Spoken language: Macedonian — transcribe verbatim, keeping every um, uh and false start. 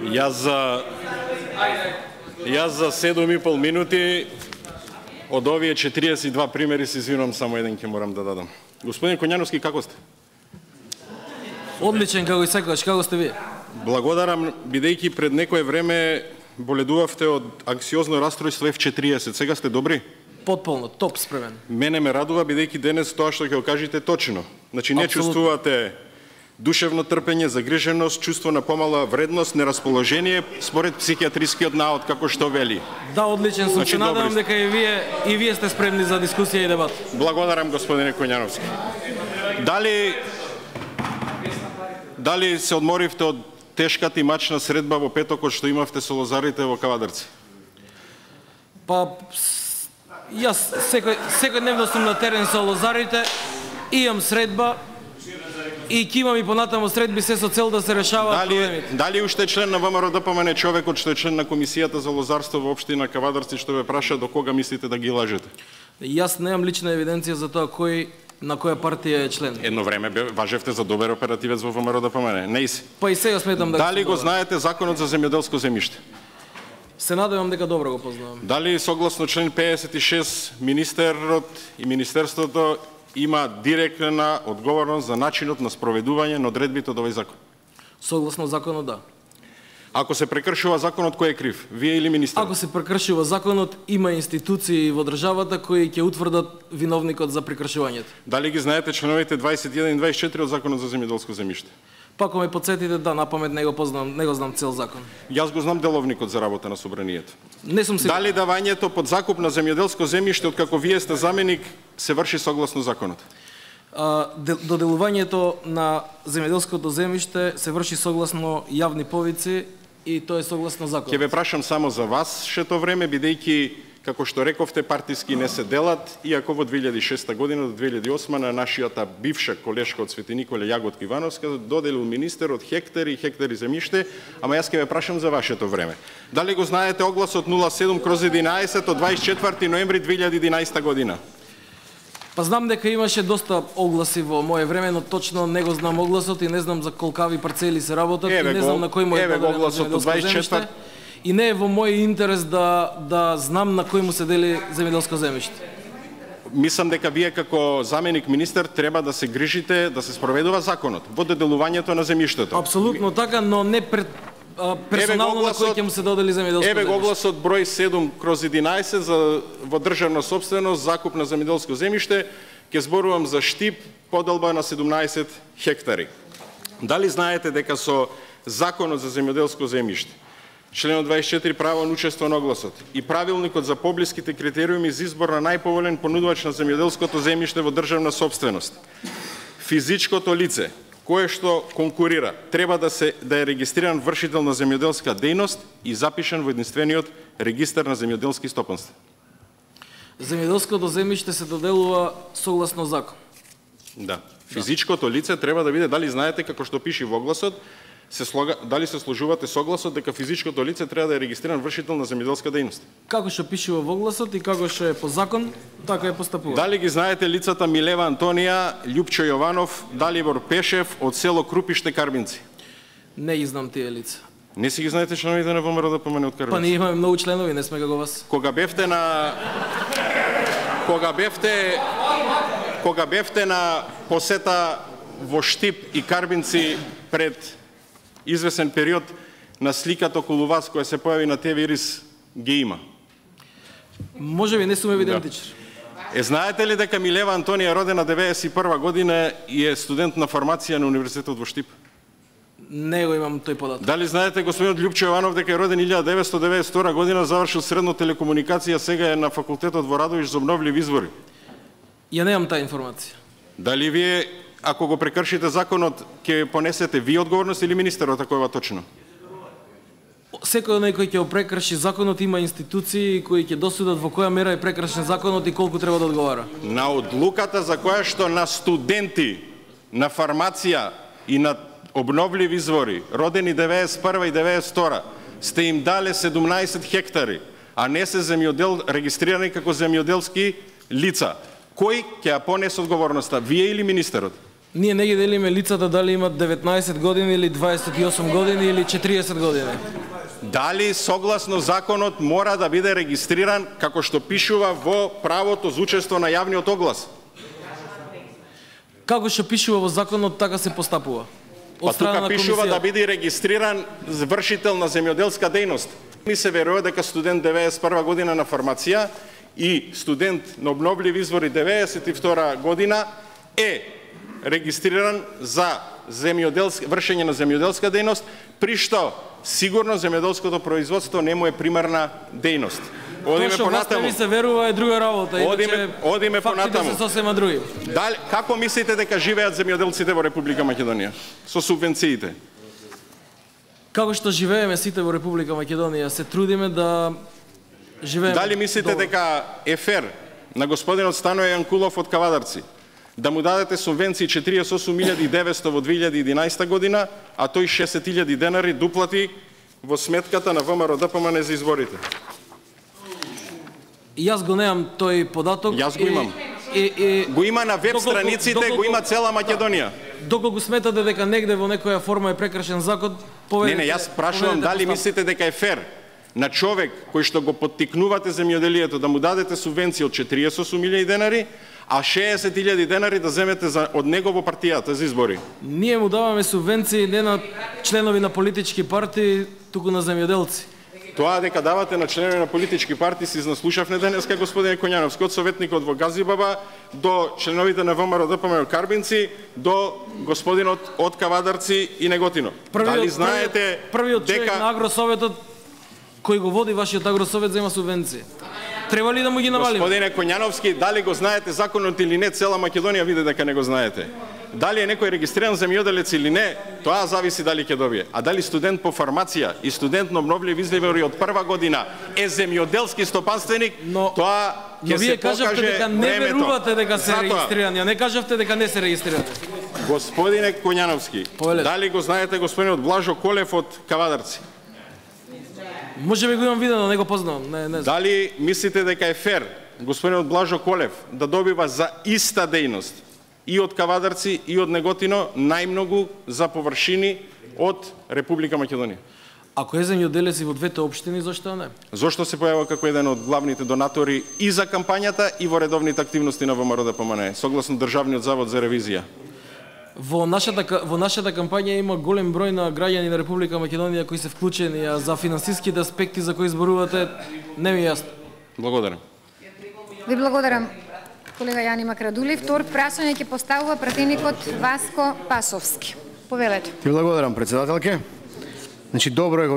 Јас за Јас за седум и пол минути од овие четириесет и два примери се извинувам, само еден ќе морам да дадам. Господин Коњановски, како сте? Одличен како и секогаш, како сте вие? Благодарам, бидејќи пред некое време боледувавте од анксиозно растројство еф четириесет. Сега сте добри? Потполно, топ спремен. Мене ме радува, бидејќи денес тоа што ќе го кажете точно. Значи не Апсолутно. чувствувате душевно трпење, загриженост, чувство на помала вредност, нерасположение според психијатрискиот наод, како што вели. Да, одличен сум. Значи, Се надевам добри дека и вие и вие сте спремни за дискусија и дебат. Благодарам, господине Коњановски. Дали Дали се одморивте од тешката и мачна средба во петокот што имавте со лозарите во Кавадарци? Па с- јас секој секојдневно сум на терен со лозарите, имам средба и ќе имам и понатамо средби, се со цел да се решаваат Дали, проблемите. дали уште е член на ВМРО-ДПМН човекот што е член на комисијата за лозарство во општина Кавадарци што ве праша до кога мислите да ги лажете? Јас немам лична евиденција за тоа кој на која партија е член. Едно време бе- важевте за добар оперативец во ВМРО-ДПМН. Не иси. Па и сега сметам да Дали сум го добар. знаете законот за земјоделско земјиште? Се надевам дека добро го познавам. Дали согласно член педесет и шест министерот и министерството има директна одговорност за начинот на спроведување на одредбите од овој закон? Согласно законот, да. Ако се прекршува законот, кој е крив? Вие или министерот? Ако се прекршува законот, има институции во државата кои ќе утврдат виновникот за прекршувањето. Дали ги знаете членовите дваесет и еден и дваесет и четири од законот за земјоделско земјиште? Па ако ме подсетите, да, напамет не го познам, не го знам цел закон. Јас го знам деловникот за работа на собранието. Не сум сигурен. Дали давањето под закуп на земјоделско земјиште, откако вие сте заменик, се врши согласно законот? А, де- доделувањето на земјоделското земјиште се врши согласно јавни повици и тоа е согласно Ќе законот. ве прашам само за вас шето време, бидејќи, како што рековте, партиски не се делат, иако во две илјади и шеста година до две илјади и осма на нашијата бивша колешка од Свети Николе Јаготка Ивановска доделил министерот хектари и хектари земјиште, ама јас ќе ве прашам за вашето време. Дали го знаете огласот нула седум кроз единаесет од дваесет и четврти ноември две илјади и единаесета година? Па знам дека имаше доста огласи во мое време, но точно не го знам огласот и не знам за колкави парцели се работат Еве и не го- знам на кој му е еве го дадено огласот од земјоделско дваесет и земјиште. четврти. И не е во мој интерес да да знам на кој му се дели земјоделско земјиште. Мислам дека вие како заменик министер треба да се грижите да се спроведува законот во доделувањето на земјиштето. Апсолутно така, но не пред а, персонално на кој ќе му се додели земјоделско Еве го земјиште. огласот број седум кроз единаесет за во државна собственост закуп на земјоделско земјиште, ќе зборувам за Штип, поделба на седумнаесет хектари. Дали знаете дека со законот за земјоделско земјиште, членот дваесет и четири право на учество на огласот и правилникот за поблиските критериуми за избор на најповолен понудувач на земјоделското земјиште во државна собственост, физичкото лице кое што конкурира треба да се да е регистриран вршител на земјоделска дејност и запишан во единствениот регистар на земјоделски стопанства? Земјоделското земјиште се доделува согласно закон. Да. Физичкото лице треба да биде, дали знаете како што пише во огласот, се слога, дали се сложувате согласот дека физичкото лице треба да е регистриран вршител на земјоделска дејност? Како што пише во огласот и како што е по закон, така е постапува. Дали ги знаете лицата Милева Антонија, Љупчо Јованов, Далибор Пешев од село Крупиште, Карбинци? Не ги знам тие лица. Не си ги знаете членовите на ВМРО-ДПМН од Карбинци? Па ние имаме многу членови, не сме како вас. Кога бевте на кога бевте кога бевте на посета во Штип и Карбинци пред извесен период, на сликата околу вас која се појави на Те Ви Ирис ги има. Може би не сум евидентичар. Е, знаете ли дека Милева Антонија родена деветдесет и прва година и е студент на фармација на Универзитетот во Штип? Не го имам тој податок. Дали знаете господинот Љупчо Јованов дека е роден илјада деветстотини деветдесет и втора година, завршил средно телекомуникација, сега е на факултетот во Радовиш за обновливи извори? Ја немам таа информација. Дали вие, ако го прекршите законот, ќе понесете вие одговорност или министерот, ако е ова точно? Секој оној кој ќе го прекрши законот има институции кои ќе досудат во која мера е прекршен законот и колку треба да одговара. На одлуката за која што на студенти на фармација и на обновливи извори, родени деветдесет и прва и деветдесет и втора, сте им дале седумнаесет хектари, а не се земјодел регистрирани како земјоделски лица. Кој ќе ја понесе одговорноста, вие или министерот? Ние не ги делиме лицата дали имат деветнаесет години или дваесет и осум години или четириесет години. Дали согласно законот мора да биде регистриран како што пишува во правото за учество на јавниот оглас? Како што пишува во законот, така се постапува. Па тука пишува да биде регистриран вршител на земјоделска дејност. Ми се верува дека студент деветдесет и прва година на фармација и студент на обновливи извори деветдесет и втора година е регистриран за земјоделска вршење на земјоделска дејност, при што сигурно земјоделското производство не му е примарна дејност. Одиме понатаму. Тоа што се верува е друга работа, одиме, одиме понатаму. Се сосема други. Дали како мислите дека живеат земјоделците во Република Македонија со субвенциите? Како што живееме сите во Република Македонија, се трудиме да живееме. Дали мислите добро. дека е фер на господинот Станоје Јанкулов од Кавадарци да му дадете субвенции четириесет и осум илјади и деветсто во две илјади и единаесета година, а тој шесет илјади денари дуплати во сметката на ВМРО-ДПМН за изборите? Јас го немам тој податок. Јас го имам. И, и, го има на веб доколку, страниците, доколку, го има цела Македонија. Доколку сметате дека негде во некоја форма е прекршен закон, поведете. Не, не, јас прашувам дали постав. Мислите дека е фер на човек кој што го поттикнувате земјоделието да му дадете субвенција од четириесет и осум илјади денари, а шеесет илјади денари да земете за, од него во партијата за избори? Ние му даваме субвенции не на членови на политички партии, туку на земјоделци. Тоа дека давате на членови на политички партии си изнаслушавме денеска, господине Коњановски, од советникот во Газибаба до членовите на ВМРО-ДПМН Карбинци, до господинот од Кавадарци и Неготино. Првиот, Дали знаете првиот дека човек на Агросоветот кој го води вашиот Агросовет зема субвенции? Треба ли да му ги навалиме? Господине Коњановски, дали го знаете законот или не, цела Македонија види дека не го знаете. Дали е некој регистриран земјоделец или не, тоа зависи дали ќе добие. А дали студент по фармација и студент на обновливи извори од прва година е земјоделски стопанственик, но, тоа ќе се покаже кажавте дека не времето. верувате дека се регистрирани, а не кажавте дека не се регистрирани. Господине Коњановски, Повелете. Дали го знаете господинот Блажо Колев од Кавадарци? Може би го имам видено, не го познавам. Не, не знам. Дали мислите дека е фер господинот Блажо Колев да добива за иста дејност и од Кавадарци и од Неготино најмногу за површини од Република Македонија? Ако е земјоделец и во двете општини, зошто не? Зошто се појавува како еден од главните донатори и за кампањата и во редовните активности на ВМРО-ДПМН, согласно Државниот завод за ревизија? Во нашата, во нашата кампања има голем број на граѓани на Република Македонија кои се вклучени, а за финансиските аспекти за кои зборувате, не ми е јасно. Благодарам. Ви благодарам, колега Јани Макрадули. Втор прашање ќе поставува пратеникот Васко Пасовски. Повелете. Ти благодарам, председателке. Значи, добро е